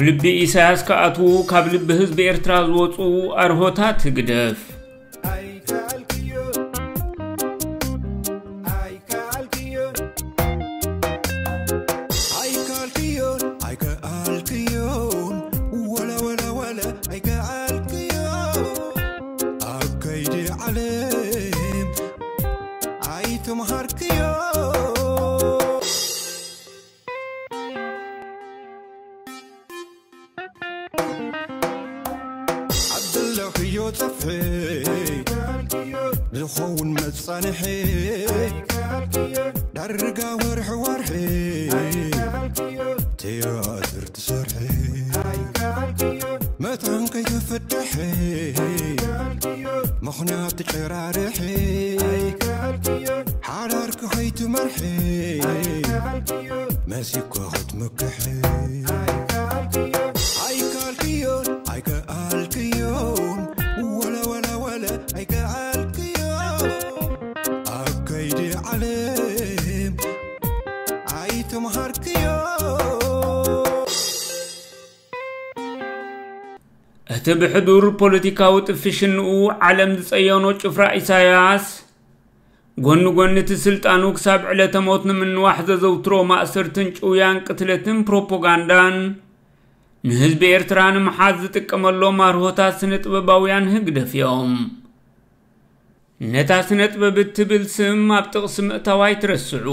ልቢ ኢሳያስ ክኣትዉ ካብ ልቢ ህዝቢ ኤርትራ ዝወፁ ኣርሆታት ህግደፍ። ኣደለኽዮ ጸፍሒ ዝኸውን መጻንሒ ዳርጋ ወርሒ ወርሒ ትያትር ትሰርሒ መታን ከይተፈትሒ ምኽንያት ትጨራርሒ ሓዳርኪ ከይትመርሒ መሲኮ ክትምክሒ ኣይከኣልክዮን ኣይከኣልክዮን ወለ ወለ ወለ ኣይከኣልክዮን ኣብ ከይዲ ዓለም ኣይተምሃርክዮ እቲ ብሕዱር ፖለቲካዊ ጥፍሽንኡ ዓለም ዝጸየኖ ጭፍራ ኢሳያስ፣ ጎኒ ጎኒ እቲ ስልጣኑ ክሳብ ዕለተ ሞት ንምንዋሕ ዘዘውትሮ ማእሰርትን ጭውያን ቅትለትን ፕሮፓጋንዳን፣ ንህዝቢ ኤርትራ ንምሓዝ ዝጥቀመሎም ኣርሆታት ስነ ጥበባውያን ህግደፍ እዮም። ነታ ስነ ጥበብ እትብል ስም ኣብ ጥቕሲ ምእታው ኣይትረስዑ።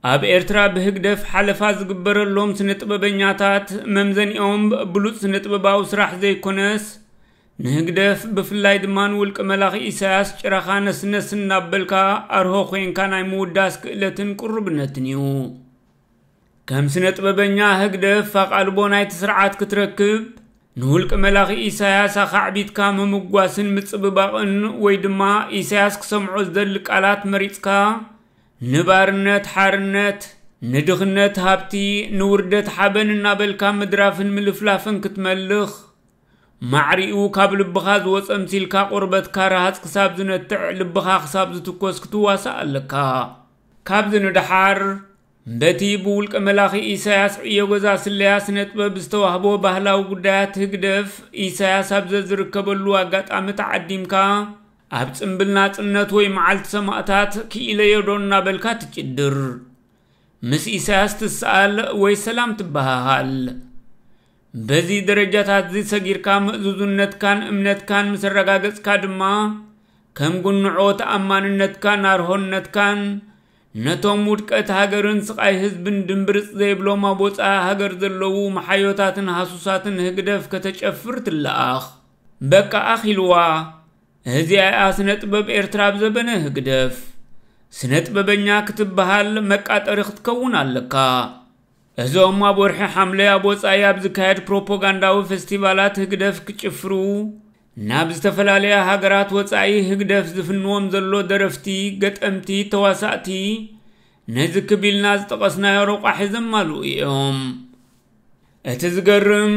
ኣብ ኤርትራ ብህግደፍ ሓለፋ ዝግበረሎም ስነ ጥበበኛታት መምዘኒኦም ብሉጽ ስነ ጥበባዊ ስራሕ ዘይኮነስ፣ ንህግደፍ ብፍላይ ድማ ንውልቀ መላኺ ኢሳያስ ጭራኻ ነስነስ እናበልካ ኣርሆ ኮይንካ ናይ ምውዳስ ክእለትን ቅሩብነትን እዩ። ከም ስነ ጥበበኛ ህግደፍ ኣቓልቦ ናይቲ ስርዓት ክትረክብ፣ ንውልቀ መላኺ ኢሳያስ ኣኻዕቢትካ ምምጓስን ምጽብባቕን ወይ ድማ ኢሳያስ ክሰምዖ ዝደሊ ቃላት መሪጽካ፣ ንባርነት ሓርነት፣ ንድኽነት ሃብቲ፣ ንውርደት ሓበን እናበልካ ምድራፍን ምልፍላፍን ክትመልኽ፣ ማዕሪኡ ካብ ልብኻ ዝወጸ ምሲልካ ቆርበትካ ረሃጽ ክሳብ ዝነትዕ ልብኻ ክሳብ ዝትኮስ ክትዋሳእ ኣለካ። ካብዚ ንደሓር፣ በቲ ብውልቀ መላኺ ኢሳያስ ዕዮ ገዛ ስለያ ስነ ጥበብ ዝተዋህቦ ባህላዊ ጉዳያት ህግደፍ ኢሳያስ ኣብ ዘዝርከበሉ ኣጋጣሚ ተዓዲምካ ኣብ ጽምብል ናጽነት ወይ መዓልቲ ሰማእታት ክኢለዮ ዶ እናበልካ ትጭድር። ምስ ኢሳያስ ትሰኣል ወይ ሰላም ትበሃሃል። በዚ ደረጃታት እዚ ሰጊርካ ምእዙዝነትካን እምነትካን ምስ ኣረጋገጽካ ድማ ከም ጉንዖ ተኣማንነትካን ኣርሆነትካን ነቶም ውድቀት ሃገርን ስቓይ ህዝብን ድምብርጽ ዘይብሎም ኣብ ወጻኢ ሃገር ዘለዉ መሓዮታትን ሃሱሳትን ህግደፍ ከተጨፍር ትለኣኽ። በቃ ኣኺልዋ። እዚኣ እያ ስነ ጥበብ ኤርትራ ኣብ ዘበነ ህግደፍ። ስነ ጥበበኛ ክትበሃል መቃጠሪ ክትከውን ኣለካ። እዞም ኣብ ወርሒ ሓምለ ኣብ ወጻኢ ኣብ ዝካየድ ፕሮፓጋንዳዊ ፈስቲቫላት ህግደፍ ክጭፍሩ ናብ ዝተፈላለያ ሃገራት ወጻኢ ህግደፍ ዝፍንዎም ዘሎ ደረፍቲ፣ ገጠምቲ፣ ተዋሳእቲ ነዚ ክብ ኢልና ዝጠቐስናዮ ረቋሒ ዘማልኡ እዮም። እቲ ዝገርም፣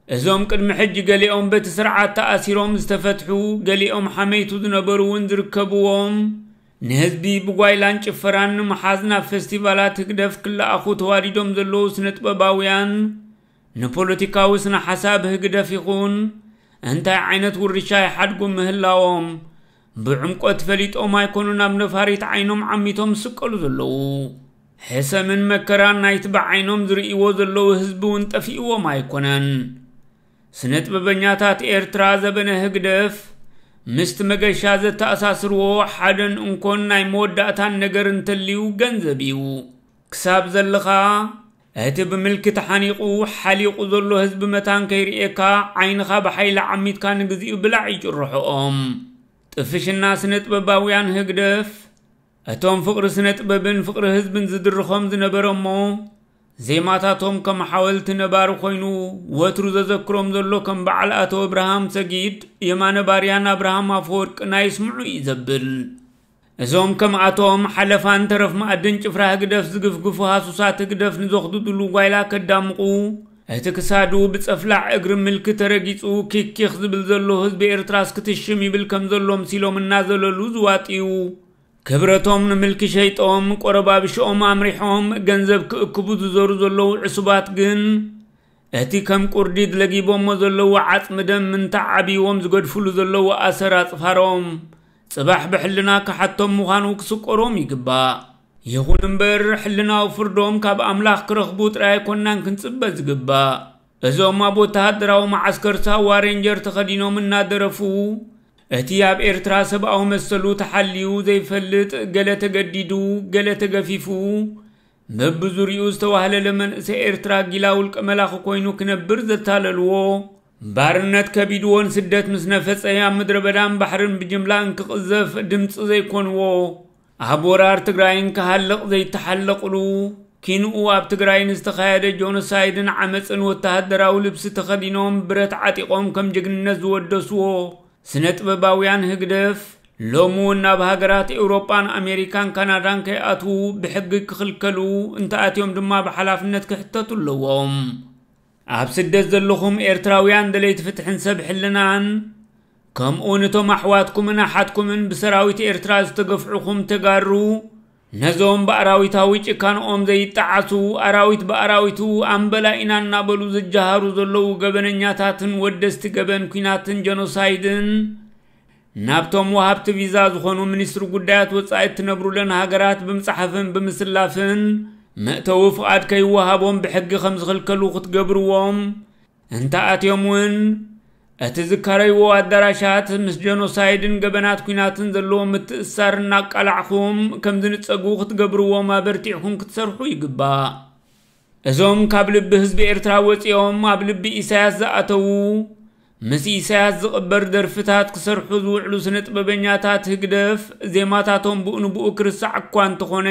እዞም ቅድሚ ሕጂ ገሊኦም በቲ ስርዓት ተኣሲሮም ዝተፈትሑ፣ ገሊኦም ሓመይቱ ዝነበሩ እውን ዝርከብዎም፣ ንህዝቢ ብጓይላን ጭፈራን ንምሓዝ ናብ ፈስቲቫላት ህግደፍ ክለኣኹ ተዋዲዶም ዘለዉ ስነ ጥበባውያን፣ ንፖለቲካዊ ስነ ሓሳብ ህግደፍ ይኹን እንታይ ዓይነት ውርሻ ይሓድጉ ምህላዎም ብዕምቆት ፈሊጦም ኣይኮኑን ኣብ ነፋሪት ዓይኖም ዓሚቶም ዝስቀሉ ዘለዉ። ሕሰምን መከራን ናይቲ ብዓይኖም ዝርእይዎ ዘለዉ ህዝቢ እውን ጠፊእዎም ኣይኮነን። ስነ ጥበበኛታት ኤርትራ ዘበነ ህግደፍ ምስቲ መገሻ ዘተኣሳስርዎ ሓደን እንኮን ናይ መወዳእታን ነገር እንተልዩ ገንዘብ እዩ። ክሳብ ዘለኻ እቲ ብምልኪ ተሓኒቑ ሓሊቑ ዘሎ ህዝቢ መታን ከይርእየካ ዓይንኻ ብሓይሊ ዓሚትካ ንግዚኡ ብላዕ ይጭርሖኦም። ጥፍሽና ስነ ጥበባውያን ህግደፍ እቶም ፍቕሪ ስነ ጥበብን ፍቕሪ ህዝብን ዝድርኾም ዝነበረ እሞ ዜማታቶም ከም ሓወልቲ ነባሪ ኮይኑ ወትሩ ዘዘክሮም ዘሎ ከም በዓል ኣቶ እብርሃም ሰጊድ፣ የማነ ባርያን ኣብርሃም ኣፈወርቅን ኣይስምዑ እዩ ዘብል። እዞም ከምኣቶም ሓለፋን ተረፍ መኣድን ጭፍራ ህግደፍ ዝግፍግፉ ሃሱሳት ህግደፍ ንዘኽድድሉ ጓይላ ከዳምቑ፣ እቲ ክሳዱ ብጸፍላዕ እግሪ ምልኪ ተረጊጹ ኪኪኽ ዝብል ዘሎ ህዝቢ ኤርትራስ ክትሽም ይብል ከም ዘሎ ምሲሎም እናዘለሉ ዝዋጥዩ። ክብረቶም ንምልኪ ሸይጦም ቆረባብሽኦም ኣምሪሖም ገንዘብ ክእክቡ ዝዘሩ ዘለዉ ዕሱባት ግን እቲ ከም ቁርዲድ ለጊቦሞ ዘለዉ ዓጽሚ ደም ምንታዕ ዓብይዎም ዝገድፍሉ ዘለዉ ኣሰር ኣጽፋሮም፣ ጽባሕ ብሕልና ክሓቶም ምዃኑ ክስቆሮም ይግባእ። ይኹን እምበር፣ ሕልናዊ ፍርዶም ካብ ኣምላኽ ክረኽቡ ጥራይ ኣይኮናን ክንጽበ ዝግባእ። እዞም ኣብ ወተሃደራዊ መዓስከር ሳዋ ሬንጀር ተኸዲኖም እናደረፉ፣ እቲ ኣብ ኤርትራ ሰብኣዊ መሰሉ ተሓልዩ ዘይፈልጥ፣ ገለ ተገዲዱ፣ ገለ ተገፊፉ፣ በብዙርይኡ ዝተዋህለለ መንእሰይ ኤርትራ ጊላ ውልቀ መላኺ ኮይኑ ክነብር ዘታለልዎ፣ ባርነት ከቢድዎን ስደት ምስ ነፈጸ ኣብ ምድረ በዳን ባሕርን ብጅምላ እንክቕዘፍ ድምጺ ዘይኮንዎ፣ ኣብ ወራር ትግራይን ክሃልቕ ዘይተሓለቕሉ፣ ኪንኡ ኣብ ትግራይን ዝተኻየደ ጆኖሳይድን ዓመጽን ወተሃደራዊ ልብሲ ተኸዲኖም ብረት ዓጢቖም ከም ጅግንነት ዝወደስዎ፣ ስነ ጥበባውያን ህግደፍ ሎሚ እውን ናብ ሃገራት ኤውሮጳን ኣሜሪካን ካናዳን ከይኣትዉ ብሕጊ ክኽልከሉ፣ እንተኣትዮም ድማ ብሓላፍነት ክሕተቱ ኣለዎም። ኣብ ስደት ዘለኹም ኤርትራውያን ደለይቲ ፍትሕን ሰብ ሕልናን፣ ከምኡ ንቶም ኣሕዋትኩምን ኣሓትኩምን ብሰራዊት ኤርትራ ዝተገፍዑኹም ተጋሩ፣ ነዞም ብኣራዊታዊ ጭካንኦም ዘይጠዓሱ፣ ኣራዊት ብኣራዊቱ ኣምበላ ኢና እናበሉ ዝጀሃሩ ዘለዉ ገበነኛታትን ወደስቲ ገበን ኲናትን ጀኖሳይድን፣ ናብቶም ወሃብቲ ቪዛ ዝኾኑ ሚኒስትሪ ጉዳያት ወጻኢ እትነብሩለን ሃገራት ብምጽሓፍን ብምስላፍን፣ መእተዊ ፍቓድ ከይወሃቦም ብሕጊ ከም ዝኽልከሉ ክትገብርዎም፣ እንተ ኣትዮም እውን፣ እቲ ዝካረይዎ ኣዳራሻት ምስ ጀኖሳይድን ገበናት ኲናትን ዘለዎ ምትእስሳር እናቃላዕኹም ከም ዝንጸጉ ክትገብርዎም ኣበርቲዕኩም ክትሰርሑ ይግባእ። እዞም ካብ ልቢ ህዝቢ ኤርትራ ወጺኦም ኣብ ልቢ ኢሳያስ ዝኣተዉ፣ ምስ ኢሳያስ ዝቕበር ደርፍታት ክሰርሑ ዝውዕሉ ስነ ጥበበኛታት ህግደፍ፣ ዜማታቶም ብኡ ንብኡ ክርስዕ እኳ እንተኾነ፣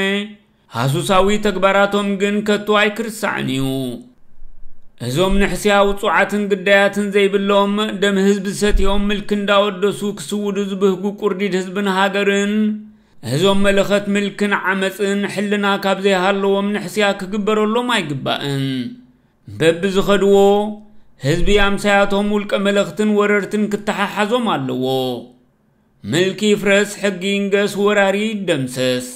ሃሱሳዊ ተግባራቶም ግን ከቶ ኣይክርሳዕን እዩ። እዞም ንሕስያ ውጹዓትን ግዳያትን ዘይብሎም፣ ደም ህዝቢ ሰትዮም ምልኪ እንዳወደሱ ክስውዱ ዝብህጉ ቁርዲድ ህዝብን ሃገርን፣ እዞም መለኸት ምልክን ዓመጽን ሕልና ካብ ዘይሃለዎም ንሕስያ ክግበረሎም ኣይግባእን። በብዝኸድዎ፣ ህዝቢ ኣምሳያቶም ውልቀ መለኽትን ወረርትን ክተሓሓዞም ኣለዎ። ምልኪ ይፍረስ፣ ሕጊ ይንገስ፣ ወራሪ ይደምሰስ።